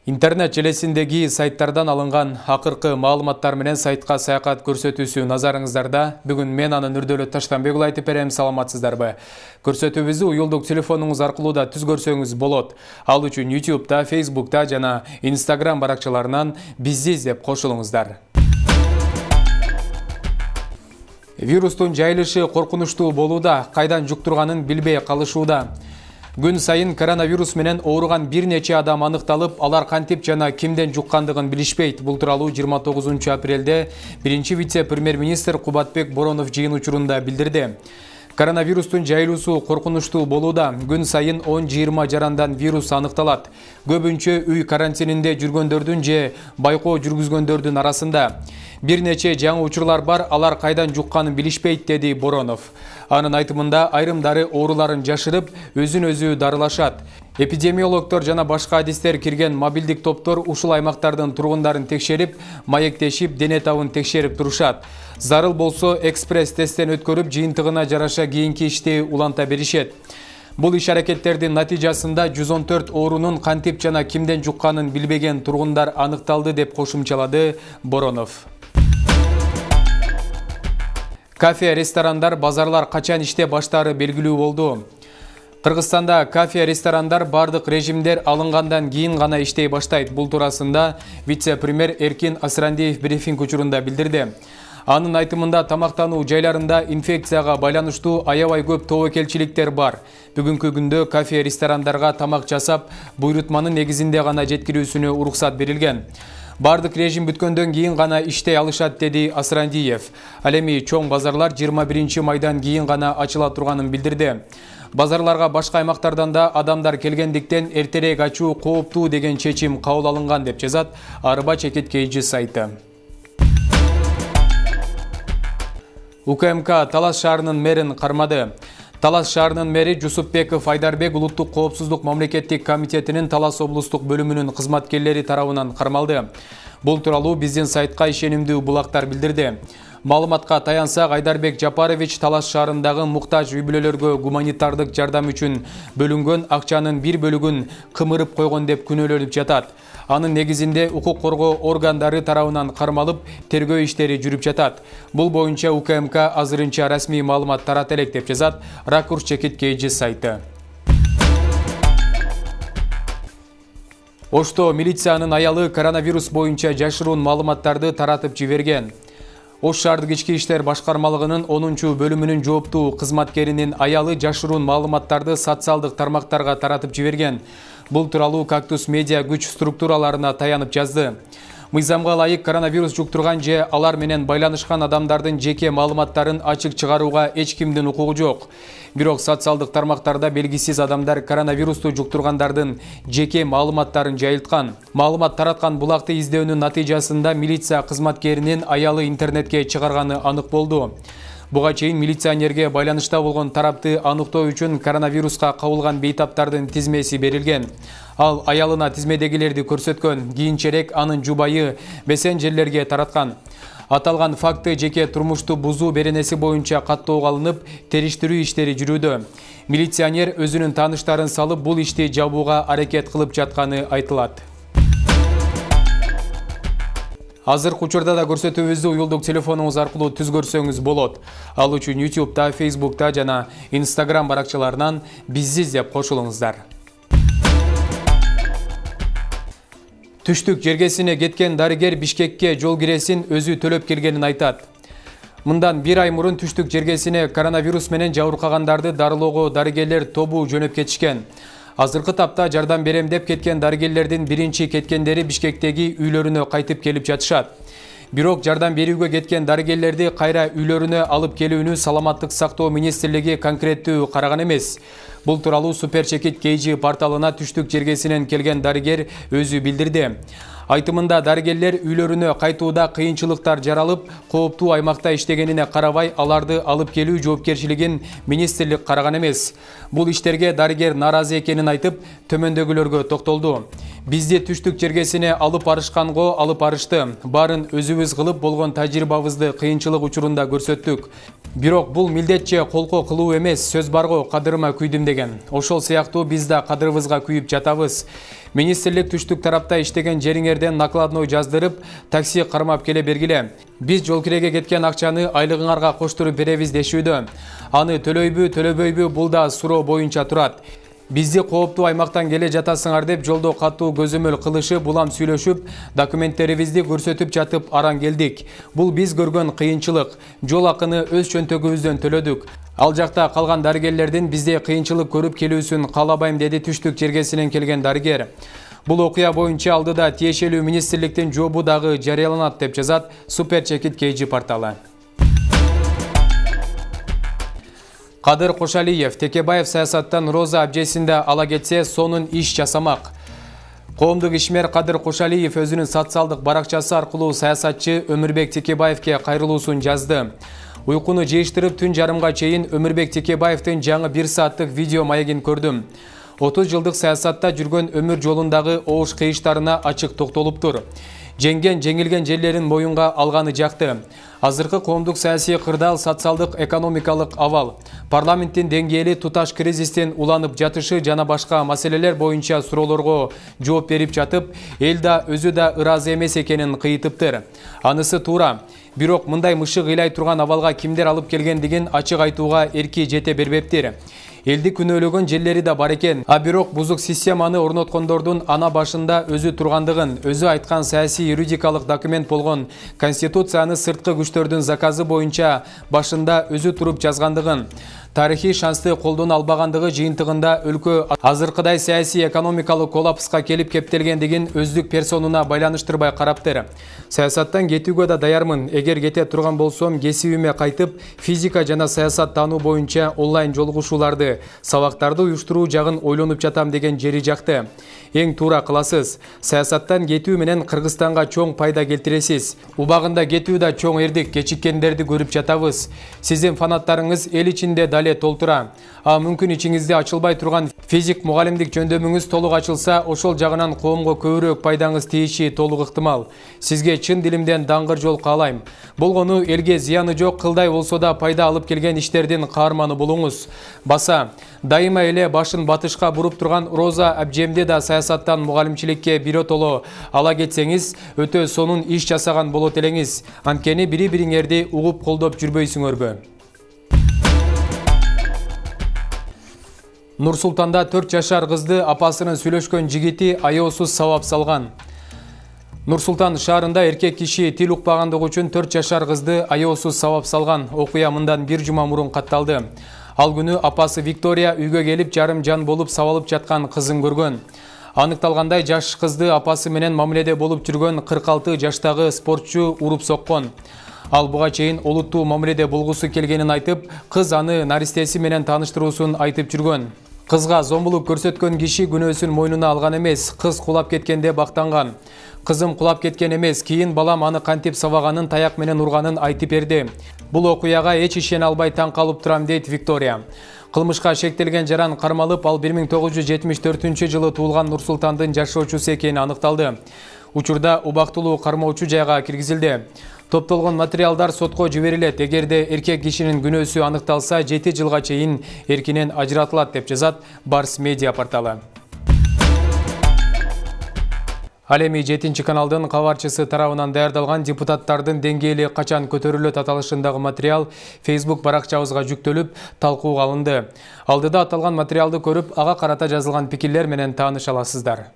Интернет желесиндеги сайттардан алынган акыркы маалыматтар менен сайтка саякат көрсөтүүсү назарыңыздарда. Бүгүн мен анын Нурдөлөт Таштанбек айтып берем, саламатсыздарбы? Көрсөтүүбүздү уюлдук телефонуңуз аркылуу да түз көрсөңүз болот. Ал үчүн YouTube'да, Facebook'та жана Instagram баракчаларынан бизди издеп кошулуңуздар. Вирустун жайылышы коркунучтуу болууда, кайдан жуктурганын билбей калышууда. Күн сайын коронавирус менен ооруган бир нече адам аныкталып, алар кантип жана кимден жуккандыгын билишпейт. Бул тууралуу 29 апрелде биринчи вице-премьер-министр Кубатбек Боронов жыйын учурунда билдирди. Коронавирустун жайылуусу коркунучтуу болууда. Күн сайын 10-20 жарандан вирус аныкталат. Көбүнчө үй карантининде жүргөндөрдүн же байкоо жүргүзгөндөрдүн арасында. Бир нече жаңы учурлар бар, алар кайдан жукканын билишпейт, деди Боронов. Анын айтымында айрымдары ооруларын жашырып, өзүн-өзү дарылашат. Эпидемиологдор жана башка адистер кирген мобилдик топтор ушул аймактардын тургундарын текшерип, маектешип, дене табын текшерип турушат. Зарыл болсо экспресс тесттен өткөрүп, жыйынтыгына жараша кийинки ишти уланта беришет. Бул иш-аракеттердин натыйжасында 114 оорунун кантип жана кимден жукканын билбеген тургундар аныкталды, деп кошумчалады Боронов. Кафе, ресторандар, базарлар качан иште баштаары белгилүү болду. Кыргызстанда кафе, ресторандар бардык режимдер алынгандан кийин гана иштей баштайт. Бул туурасында вице-премьер Эркин Асрандиев брифинг учурунда билдирди. Анын айтымында тамактануу жайларында инфекцияга байланыштуу аябай көп тобокелчиликтер бар. Бүгүнкү күндө кафе, ресторандарга тамак жасап, буйрутманын негизинде гана жеткирүүсүнө уруксат берилген. Бардык режим бүткөндөн кийин гана иштей алышат, деди Асрандиев. Ал эми чоң базарлар 21 майдан кийин гана ачыла турганын билдирди. Базарларга башка аймактардан да адамдар келгендиктен эртерээк ачуу кооптуу деген чечим кабыл алынган, деп жазат Арба Чекит KG сайты. УКМК Талас шаарынын мэрин кармады. Талас шаарынын мэри Жусупбеков Айдарбек Улуттук коопсуздук мамлекеттик комитетинин Талас облустук бөлүмүнүн кызматкерлери тарабынан кармалды. Бул тууралуу биздин сайтка ишенимдүү булактар билдирди. Маалыматка таянсак, Айдарбек Жапарович Талас шаарындагы муктаж үй бүлөлөргө гуманитардык жардам үчүн бөлүнгөн акчанын бир бөлүгүн кымырып койгон деп күнөөлөнүп жатат. Анын негизинде укук коргоо органдары тарабынан кармалып, тергөө иштери жүрүп жатат. Бул боюнча УКМК азырынча расмий маалымат тарата элек, деп жазат Ракурс Чекит KG сайты. Ошто милициянын аялы коронавирус боюнча жашыруун маалыматтарды таратып жиберген. Ош шаардык ички иштер башкармалыгынын 10-чу бөлүмүнүн жооптуу кызматкеринин аялы жашыруун маалыматтарды социалдык тармактарга таратып жиберген. Бул тууралуу Кактус медиа күч структураларына таянып жазды. Мыйзамга ылайык коронавирус жуктурган же алар менен байланышкан адамдардын жеке маалыматтарын ачык чыгарууга эч кимдин укугу жок. Бирок социалдык тармактарда белгисиз адамдар коронавирусту жуктургандардын жеке маалыматтарын жайылткан. Маалымат тараткан булакты издөөнүн натыйжасында милиция кызматкеринин аялы интернетке чыгарганы анык болду. Буга чейин милиционерге байланышта болгон тарапты аныктоо үчүн коронавируска кабылган бейтаптардын тизмеси берилген. Ал аялына тизмедегилерди көрсөткөн, кийинчерээк анын жубайы мессенджерлерге тараткан. Аталган факты жеке турмушту бузуу беренеси боюнча каттоого алынып, териштирүү иштери жүрүүдө. Милиционер өзүнүн тааныштарын салып, бул ишти жабууга аракет кылып жатканы айтылат. Азыркы учурда да көрсөтүүбүздү уюлдук телефонуңуз аркылуу түз көрсөңүз болот. Ал үчүн YouTube'да, Facebook'та жана Instagram баракчаларынан бизди издеп кошулуңуздар. Түштүк жергесине кеткен дарыгер Бишкекке жол киресин өзү төлөп келгенин айтат. Мындан бир ай мурун түштүк жергесине коронавирус менен жабыркагандарды дарылоого дарыгерлер тобу жөнөп кетишкен. Азыркы тапта жардам берем деп кеткен дарыгерлердин биринчи кеткендери Бишкектеги үйлөрүнө кайтып келип жатышат. Бирок жардам берүүгө кеткен дарыгерлерди кайра үйлөрүнө алып келүүнү Саламаттык сактоо министрлиги конкреттүү караган эмес. Бул тууралуу Супер Чекит KG порталына түштүк жергесинен келген дарыгер өзү билдирди. Айтымында дарыгерлер үйлөрүнө кайтууда кыйынчылыктар жаралып, кооптуу аймакта иштегенине карабай, аларды алып келүү жоопкерчилигин министрлик караган эмес. Бул иштерге дарыгер нааразы экенин айтып, төмөндөгүлөргө токтолду. Бизди түштүк жергесине алып барышканго алып барышты. Барын өзүбүз кылып болгон тажрыйбабызды кыйынчылык учурунда көрсөттүк. Бирок бул милдетче колко кылуу эмес, сөз барго кадырыма күйдүм деген. Ошол сыяктуу биз да кадырыбызга күйүп жатабыз. Министрлик түштүк тарапта иштеген жериңерден накладной жаздырып, такси кармап келе бергиле. Биз жол киреге кеткен акчаны айлыгыңарга коштуруп беребиз дешүүдө. Аны төлөйбү, төлөбөйбү бул да суроо боюнча турат. Бизди кооптуу аймактан келе жатасыңар деп жолдо катуу көзөмөл кылышып, улам сүйлөшүп, документтерибизди көрсөтүп жатып аран келдик. Бул биз көргөн кыйынчылык. Жол акыны өз чөнтөгүбүздөн төлөдүк. Ал жакта калган дарыгерлердин бизде кыйынчылык көрүп келүүсүн каалабайм, деди түштүк жергесинен келген дарыгер. Бул окуя боюнча алдыда тиешелүү министрликтин жообу дагы жарыяланат деп жазат Супер Чекит KG порталы. Кадыр Кошалиев Текебаев саясаттан Роза абжесинде ала кетсе, сонун иш жасамак. Коомдук ишмер Кадыр Кошалиев өзүнүн социалдык баракчасы аркылуу саясатчы Өмүрбек Текебаевке кайрылуусун жазды. Уйкуну жыйыштырып түн жарымга чейин Өмүрбек Текебаевдин жаңы 1 сааттык видео маегин көрдүм. 30 жылдык саясатта жүргөн өмүр жолундагы оош кыйыштарына ачык токтолуптур. Жеңилген жерлерин моюнга алганы жакты. Азыркы коомдук саясий кырдаал социалдык экономикалык абал, парламенттин деңгээли туташ кризистен уланып жатышы жана башка маселелер боюнча суроолорго жооп берип жатып, эл да өзү да ыраазы эмес экенин кыйытыптыр. Анысы туура. Бирок мындай мышык ыйлай турган абалга кимдер алып келгендигин ачык айтууга эрки жете бербептир. Элди күнөөлөгөн жерлери да бар экен. Бирок бузук системаны орноткондордун ана башында өзү тургандыгын, өзү айткан саясий юридикалык документ болгон Конституцияны сырткы күчтөрдүн заказы боюнча башында өзү туруп жазгандыгын, тарыхый шансты колдоно албагандыгы жыйынтыгында өлкө азыркыдай саясий экономикалык коллапска келип кептелгендигин өздүк персонуна байланыштырбай караптыр. Саясаттан кетүүгө да даярмын. Эгер кете турган болсом, кесибиме кайтып, физика жана саясат таануу боюнча онлайн жолугушууларды, сабактарды уюштуруу жагын ойлонуп жатам деген жери жакты. Эң туура кыласыз. Саясаттан кетүү менен Кыргызстанга чоң пайда келтиресиз. Убагында кетүү да чоң эрдик, кечиккендерди көрүп жатабыз. Сиздин фанаттарыңыз эл ичинде дале толтура. Мүмкүн ичиңизде ачылбай турган физик мугалимдик жөндөмүңүз толук ачылса, ошол жагынан коомго көбүрөөк пайдаңыз тийиши толук ыктымал. Сизге чын дилимден даңгыр жол каалайм. Болгону элге зыяны жок, кылдай болсо да пайда алып келген иштердин каарманы болуңуз. Баса, дайыма эле башын батышка буруп турган Роза абжемди да саясаттан мугалимчиликке биротоло ала кетсеңиз, өтө сонун иш жасаган болот элеңиз. Анткени бири-бириңерди угуп колдоп жүрбөйсүңөрбү? Нур-Султанда 4 жашар кызды апасынын сүйлөшкөн жигити аяосуз сабап салган. Нур-Султан шаарында эркек киши тил укпагандыгы үчүн 4 жашар кызды аяосуз сабап салган. Окуя мындан 1 жума мурун катталды. Ал күнү апасы Виктория үйгө келип жарым жан болуп сабалып жаткан кызын көргөн. Аныкталгандай, жаш кызды апасы менен мамиледе болуп жүргөн 46 жаштагы спортчу уруп соккон. Ал буга чейин олуттуу мамиледе болгусу келгенин айтып, кыз аны наристеси менен тааныштыруусун айтып жүргөн. Кызга зомбулук көрсөткөн киши күнөөсүн мойнуна алган эмес, кыз кулап кеткенде бактанган. Кызым кулап кеткен эмес, кийин балам аны кантип сабаганын, таяк менен урганын айтып берди. Бул окуяга эч ишене албай таң калып турам, дейт Виктория. Кылмышка шектелген жаран кармалып, ал 1974-жылы туулган Нур-Султандын жашоочусу экени аныкталды. Учурда убактылуу кармоочу жайга киргизилди. Топтолгон материалдар сотко жиберилет. Эгерде эркек кишинин күнөөсү аныкталса, 7 жылга чейин эркинен ажыратылат, деп жазат Барс Медиа порталы. Ал эми 7 каналдын кабарчысы тарабынан даярдалган депутаттардын деңгээли качан көтөрүлөт аталышындагы материал Facebook баракчабызга жүктөлүп, талкууга алынды. Алдыда аталган материалды көрүп, ага карата жазылган пикирлер менен тааныша аласыздар.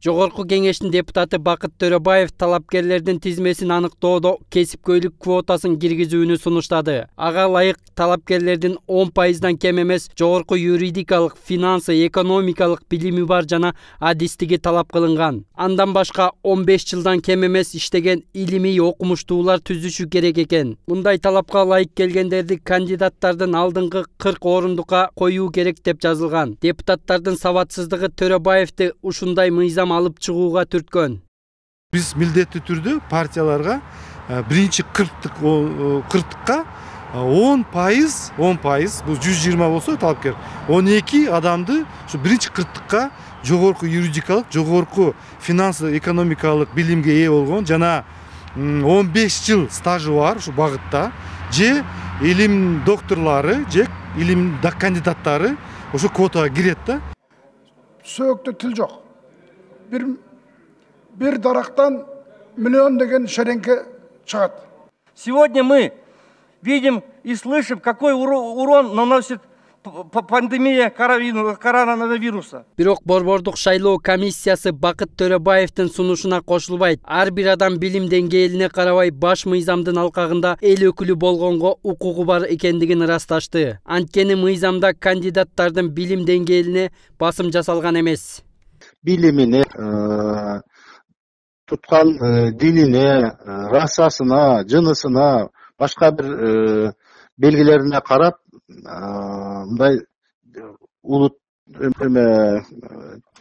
Жогорку кеңештин депутаты Бакыт Төрөбаев талапкерлердин тизмесин аныктоодо кесипкөйлүк квотасын киргизүүнү сунуштады. Ага ылайык талапкерлердин 10%дан кем эмес жогорку юридикалык, финансы, экономикалык билими бар жана адистиги талап кылынган. Андан башка 15 жылдан кем эмес иштеген илимий окумуштуулар түзүшү керек экен. Мындай талапка ылайык келгендерди кандидаттардын алдыңкы 40 орундукка коюу керек деп жазылган. Депутаттардын сабатсыздыгы Төрөбаевди ушундай мыйзам алып чыгууга түрткөн. Биз милдеттүү түрдө партияларга биринчи 40-тыкка 10% бул 120 болсо талапкер 12 адамды ушу биринчи кырктыкка жогорку юридикалык, жогорку финансылык, экономикалык билимге ээ болгон жана 15 жыл стажы бар ушу багытта же илим докторлору же илим кандидаттары ошо квотага кирет да. Сөөктө тил жок. Бир дарактан миллион деген шеренке чыгат. Сегодня мы видим и слышим, какой урон наносит пандемия коронавируса. Бирок борбордук шайлоо комиссиясы Бакыт Төрөбаевдин сунушуна кошулбайт. Ар бир адам билим деңгээлине карабай баш мыйзамдын алкагында эл өкүлү болгонго укугу бар экендигин ырасташты. Анткени мыйзамда кандидаттардын билим деңгээлине басым жасалган эмес. Билимине, туткан динине, расасына, жынысына, башка бир белгилерине карап, мындай улут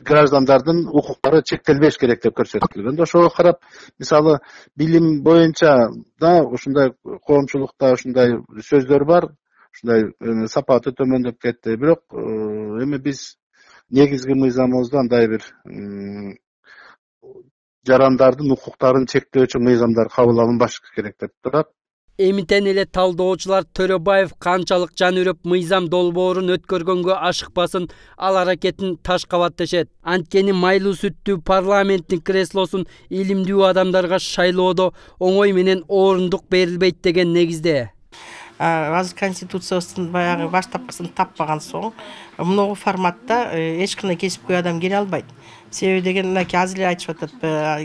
граждандардын укуктары чектелбеш керек деп көрсөтүлгөн. Ошого карап, мисалы, билим боюнча да ушундай коомчулукта ушундай сөздөр бар, ушундай сапаты төмөндөп кетти. Бирок эми биз негизги мыйзамыбызда андай бир жарандардын укуктарын чектөөчү мыйзамдар кабыл алынбаш керек деп турат. Эмитен эле талдоочулар Төрөбаев канчалык жан үрөп мыйзам долбоорун өткөргөнгө ашыкпасын, ал аракетин таш кабат дешет. Анткени майлуу сүттүү парламенттин креслосун илимдүү адамдарга шайлоодо оңой менен орундук берилбейт деген негизде. Азыр конституциябыздын баягы баштапкысын таппаган соң мынау форматта эч кандай кесипкөй адам келе албайт. Себеби деген мынакей азыр эле айтышып атат,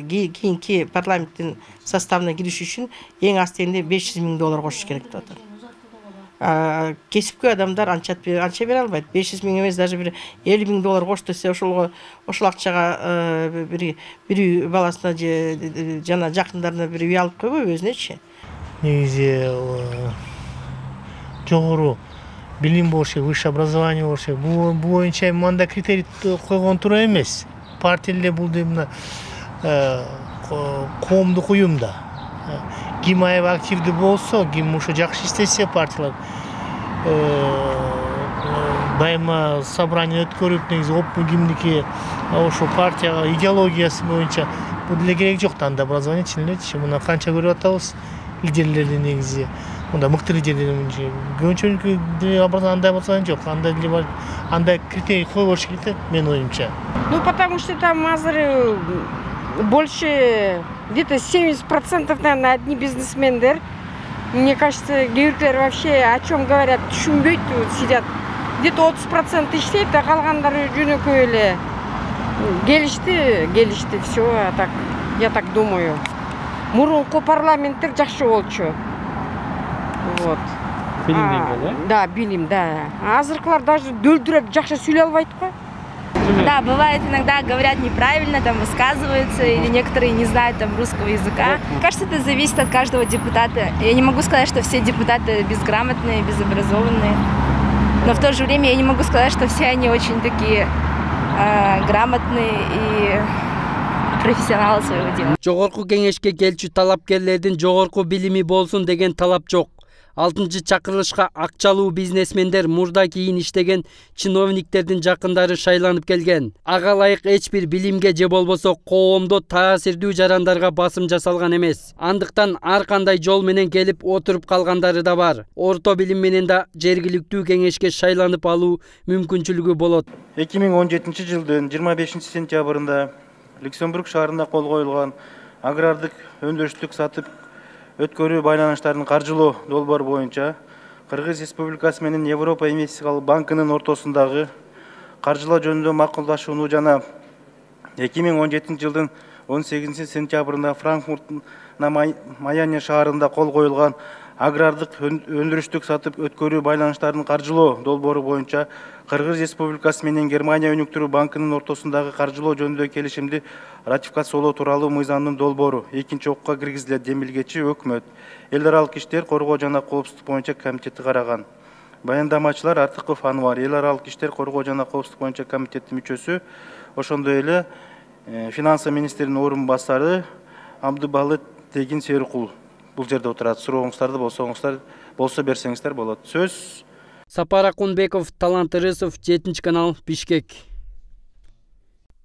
кийинки парламенттин составына кириш үчүн эң аз дегенде $500,000 кошуш керек деп атат. Кесипкөй адамдар анча бере албайт. 500 миң эмес, даже бир $50,000 кош десе, ошол акчага бир үй баласына же жана жакындарына бир үй алып койбойбу өзүнөчү? Негизи жогору билим болуш керек, высшее образование болуш керек. Бул боюнча мындай критерий койгон туура эмес. Партия эле бул мына коомдук уюм да. Ким аябай активдүү болсо, ким ушу жакшы иштесе партиялар дайыма собрание өткөрүп, негизи оптун кимдики ошо партияга идеологиясы боюнча бул деле керек жок да, анда образование чын элечи. Мына канча көрүп атабыз лидерлерди негизи. Мында мыкты лидерлер көбүнчө андай болсо жок, андай деле бар, андай критерий койбош керек деп менин оюмча. Потому что там азыр больше где-то 70% наверное одни бизнесмендер. Мне кажется, гейлер вообще о чем говорят, түшүнбөйт, сидят. Где-то 30% иштейт, а калгандары жөнөкөй эле келишти, все, так, я так думаю. Мурунку парламенттер жакшы болчу. Вот. Билим деңгээли, да? Да, билим, да. Азыркылар даже дөлдүрөп жакшы сүйлөй албайт го. Да, бывает иногда говорят неправильно, там высказываются, или некоторые не знают там русского языка. Мне кажется, это зависит от каждого депутата. Я не могу сказать, что все депутаты безграмотные, безобразованные. Но в то же время я не могу сказать, что все они очень такие грамотные и профессионалы своего дела. Жогорку кеңешке келчү талапкерлердин жогорку билими болсун деген талап жок. 6-чакырылышка акчалуу бизнесмендер, мурда кийин иштеген чиновниктердин жакындары шайланып келген. Ага ылайык эч бир билимге же болбосо коомдо таасирдүү жарандарга басым жасалган эмес. Андыктан ар кандай жол менен келип отуруп калгандары да бар. Орто билим менен да жергиликтүү кеңешке шайланып алуу мүмкүнчүлүгү болот. 2017 жылдын 25 сентябрында Люксембург шаарында кол коюлган агрардык өндүрүштүк сатып өткөрүү байланыштарын каржылоо долбоору боюнча Кыргыз Республикасы менен Европа инвестициялык банкынын ортосундагы каржылоо жөнүндө макулдашууну жана 2017 жылдын 18 сентябрында Франкфурт на Майяне шаарында кол коюлган агрардык өндүрүштүк сатып өткөрүү байланыштарын каржылоо долбоору боюнча Кыргыз Республикасы менен Германия өнүктүрүү банкынын ортосундагы каржылоо жөнүндө келишимди ратификациялоо тууралуу мыйзамдын долбоору экинчи окууга киргизилет. Демилгечи өкмөт эл аралык иштер коргоо жана коопсуздук боюнча комитети караган. Баяндамачылар Артыков Анвар, эл аралык иштер коргоо жана коопсуздук боюнча комитеттин мүчөсү, ошондой эле финансы министринин орун басары Абдыбалы Тегин Серикул. бул жерде отурат. Сурооңуздарды болсо берсеңиздер болот. Сөз. Сапар Акунбеков, Талант Ырысов, 7 канал, Бишкек.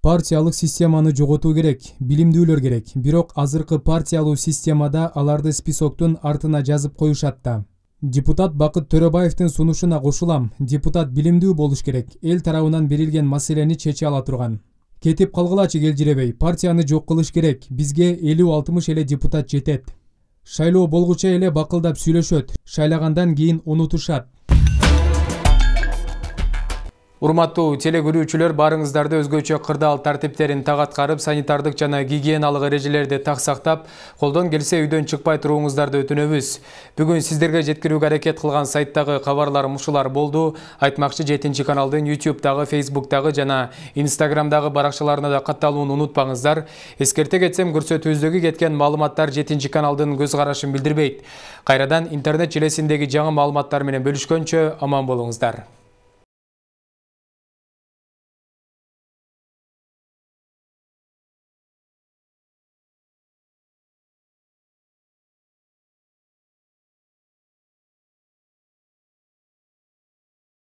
Партиялык системаны жоготуу керек, билимдүүлөр керек. Бирок азыркы партиялуу системада аларды списоктун артына жазып коюшат да. Депутат Бакыт Төрөбаевдин сунушуна кошулам. Депутат билимдүү болуш керек. Эл тарабынан берилген маселени чече ала турган. Кетип калгылачы келжиребей, партияны жок кылыш керек. Бизге 50-60 эле депутат жетет. Шайлоо болгуча эле бакылдап сүйлөшөт. Шайлагандан кийин унутушат. Урматтуу телекөрүүчүлөр, барыңыздарды өзгөчө кырдаал тартиптерин так аткарып, санитардык жана гигиеналык эрежелерди так сактап, колдон келсе үйдөн чыкпай туруңуздарды өтүнөбүз. Бүгүн сиздерге жеткирүүгө аракет кылган сайттагы кабарлар мушулар болду. Айтмакчы 7 каналдын YouTube'дагы, Facebook'тагы жана Instagram'дагы баракчаларына да катталууну унутпаңыздар. Эскерте кетсем, көрсөтүүбүздөгү кеткен маалыматтар 7 каналдын көз карашын билдирбейт. Кайрадан интернет желесиндеги жаңы маалыматтар менен бөлүшкөнчө аман болуңуздар.